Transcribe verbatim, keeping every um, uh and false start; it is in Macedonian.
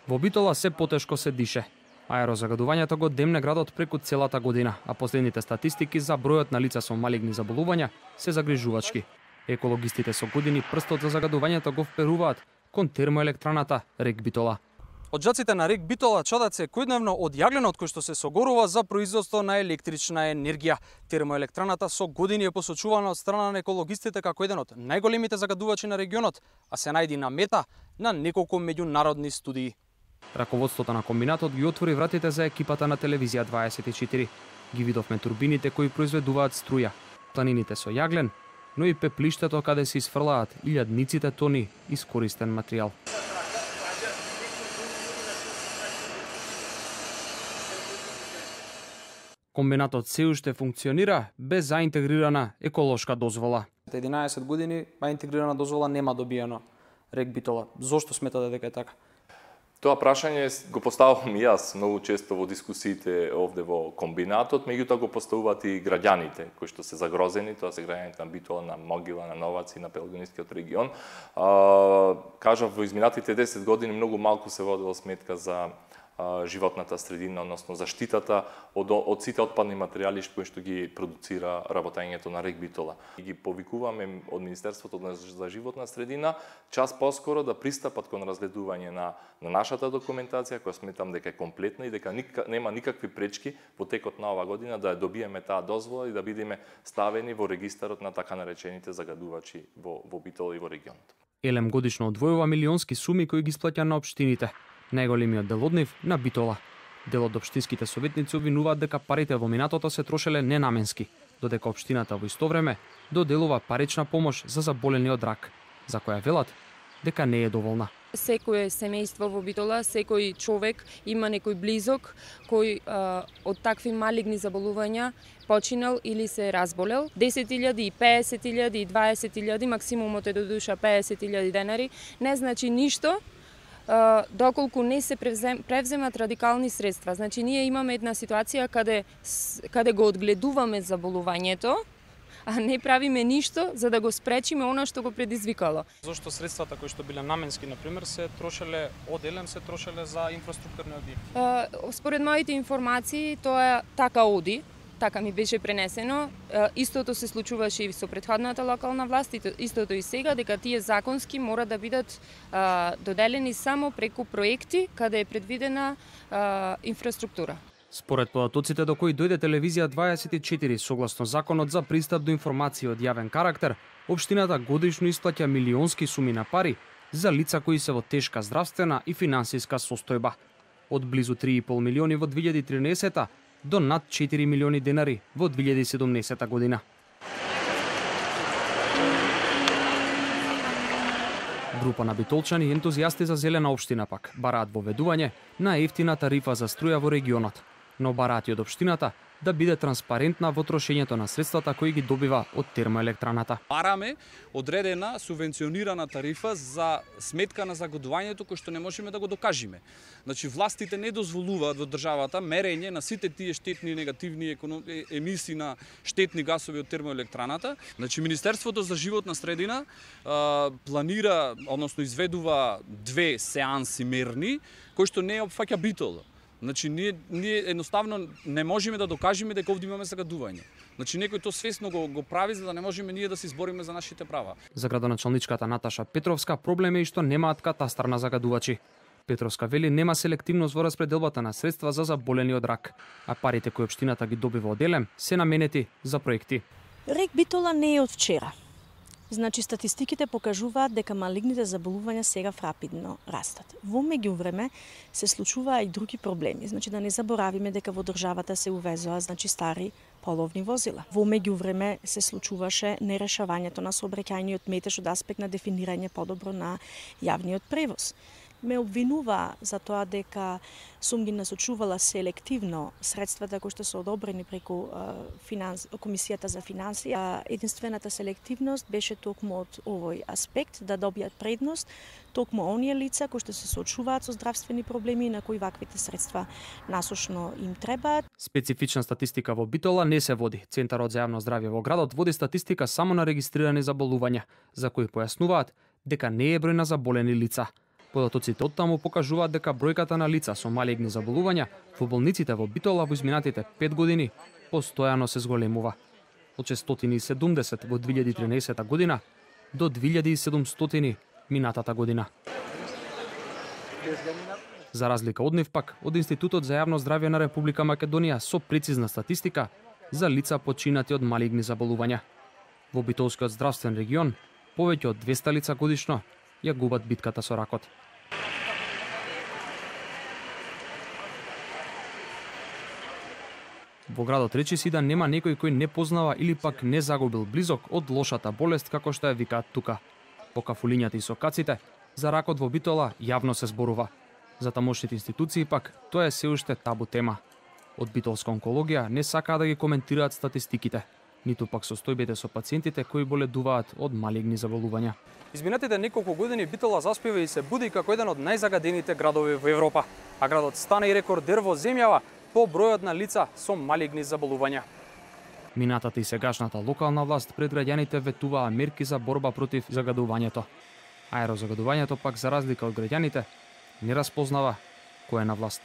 Во Битола се потешко се дише. Аерозагадувањето го демне градот преку целата година, а последните статистики за бројот на лица со малигни заболувања се загрижувачки. Екологистите со години прстот за загадувањето го вперуваат кон термоелектраната Рек Битола. Од жаците на Рек Битола чадат секојдневно од јагленот кој што се согорува за производство на електрична енергија. Термоелектраната со години е посочувана од страна на екологистите како еден од најголемите загадувачи на регионот, а се најди на мета на неколку меѓународни студии. Раководството на комбинатот ги отвори вратите за екипата на телевизија дваесет и четири. Ги видовме турбините кои произведуваат струја, планините со јаглен, но и пеплиштето каде се изфрлаат илјадниците тони искористен материјал. Комбинатот се уште функционира без заинтегрирана еколошка дозвола. единаесет години, а интегрирана дозвола нема добиено Рек Битола. Зошто сметате дека е така? Тоа прашање го поставувам и јас многу често во дискусиите овде во комбинатот, меѓутоа го поставуваат и граѓаните кои што се загрозени, тоа се граѓаните на Битола, на Могила, на Новаци, на Пелагонискиот регион. А, кажав, во изминатите десет години многу малку се водела сметка за животната средина, односно заштитата од, од сите отпадни материјали кои што ги продуцира работењето на Рек Битола. И ги повикуваме од Министерството за животна средина час поскоро да пристапат кон разгледување на, на нашата документација, која сметам дека е комплетна и дека ника, нема никакви пречки во текот на ова година да ја добиеме таа дозвола и да бидеме ставени во регистарот на така наречените загадувачи во, во Битола и во регионот. Елем годишно одвојува милионски суми кои ги исплаќа на општините. Најголемиот дел од нив на Битола. Дел од општинските советници обвинуваат дека парите во минатото се трошеле ненаменски, додека општината во исто време доделува парична помош за заболени од рак, за која велат дека не е доволна. Секој семејство во Битола, секој човек има некој близок кој а, од такви малигни заболувања починал или се разболел. десет илјади, песет илјади, дваесет илјади, максимумот е до душа песет илјади денари, не значи ништо доколку не се превзем, превземат радикални средства. Значи, ние имаме една ситуација каде, каде го одгледуваме заболувањето, а не правиме ништо за да го спречиме она што го предизвикало. Зошто средствата кои што биле наменски, например, се трошеле од Елем, се трошеле за инфраструктурни објекти? Според моите информации, тоа така оди. Така ми беше пренесено. Истото се случуваше и со претходната локална власт, истото и сега, дека тие законски мора да бидат а, доделени само преку проекти каде е предвидена а, инфраструктура. Според податоците до кои дојде телевизија дваесет и четири, согласно законот за пристап до информации од јавен карактер, општината годишно исплаќа милионски суми на пари за лица кои се во тешка здравствена и финансиска состојба. Од близу три и пол милиони во две илјади и тринаесета до над четири милиони денари во две илјади и седумнаесета година. Група на битолчани ентузијасти за зелена општина пак бараат воведување на ефтина тарифа за струја во регионот, но бараат и од општината да биде транспарентна во трошењето на средствата кои ги добива од термоелектраната. Бараме одредена субвенционирана тарифа за сметка на загадувањето кој што не можеме да го докажеме. Значи властите не дозволуваат во државата мерење на сите тие штетни негативни емисии на штетни гасови од термоелектраната. Значи Министерството за животна средина а, планира, односно изведува две сеанси мерни кои што не опфаќа Битола. Значи, ние, ние едноставно не можеме да докажеме дека овде имаме загадување. Значи, некој то свесно го, го прави за да не можеме ние да се избориме за нашите права. За градоначалничката Наташа Петровска проблем е и што немаат катастар на загадувачи. Петровска вели нема селективност во распределбата на средства за заболени од рак, а парите кои општината ги добива од Елем се наменети за проекти. Рек Битола не е од вчера. Значи, статистиките покажуваат дека малигните заболувања сега рапидно растат. Во меѓувреме се случуваа и други проблеми. Значи, да не заборавиме дека во државата се увезоа, значи, стари половни возила. Во меѓувреме се случуваше нерешавањето на сообраќајниот метеж од аспект на дефинирање подобро на јавниот превоз. Ме обвинува за тоа дека сум ги насочувала селективно средствата кои што се одобрени преку финанс, Комисијата за финансии. Единствената селективност беше токму од овој аспект, да добијат предност токму оние лица кои што се соочуваат со здравствени проблеми на кои ваквите средства насошно им требаат. Специфична статистика во Битола не се води. Центарот за јавно здравје во градот води статистика само на регистрирани заболувања, за кои појаснуваат дека не е број на заболени лица. Податоците од таму покажуваат дека бројката на лица со малигни заболувања во болниците во Битола во изминатите пет години постојано се зголемува. Од шестстотини и седумдесет во две илјади и тринаесета година до две илјади и седумстотини минатата година. За разлика од нив пак, од Институтот за јавно здравје на Република Македонија со прецизна статистика за лица починати од малигни заболувања. Во Битолскиот здравствен регион повеќе од двеста лица годишно ја губат битката со ракот. Во градот речиси да нема некој кој не познава или пак не загубил близок од лошата болест како што ја викаат тука. По кафулињата и сокаците, за ракот во Битола јавно се зборува. За тамошните институции пак тоа е се уште табу тема. Од битолска онкологија не сакаа да ги коментираат статистиките, ниту пак состојбите со пациентите кои боледуваат од малигни заболувања. Изминатите неколку години Битола заспива и се буди како еден од најзагадените градови во Европа, а градот стана и рекордер во земјава по бројот на лица со малигни заболувања. Минатата и сегашната локална власт пред граѓаните ветуваа мерки за борба против загадувањето. Аерозагадувањето пак, за разлика од граѓаните, не распознава кој е на власт.